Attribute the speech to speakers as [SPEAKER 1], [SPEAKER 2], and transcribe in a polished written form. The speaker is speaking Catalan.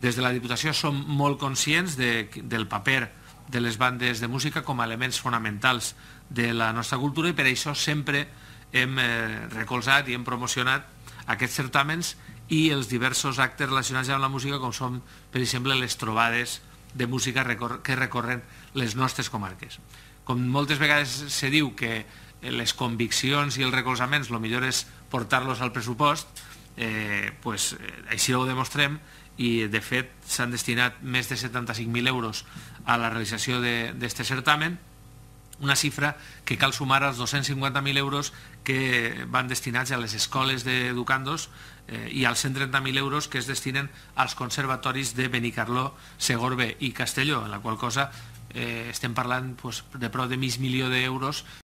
[SPEAKER 1] Des de la Diputació som molt conscients del paper de les bandes de música com a elements fonamentals de la nostra cultura i per això sempre hem recolzat i hem promocionat aquests certàmens i els diversos actes relacionats amb la música, com són, per exemple, les trobades de música que recorren les nostres comarques. Com moltes vegades se diu que les conviccions i els recolzaments el millor és portar-los al pressupost, així ho demostrem i de fet s'han destinat més de 75.000 euros a la realització d'aquest certamen, una xifra que cal sumar als 250.000 euros que van destinats a les escoles d'educandos i als 130.000 euros que es destinen als conservatoris de Benicarló, Segorbe i Castelló, en la qual cosa estem parlant de prop de mig milió d'euros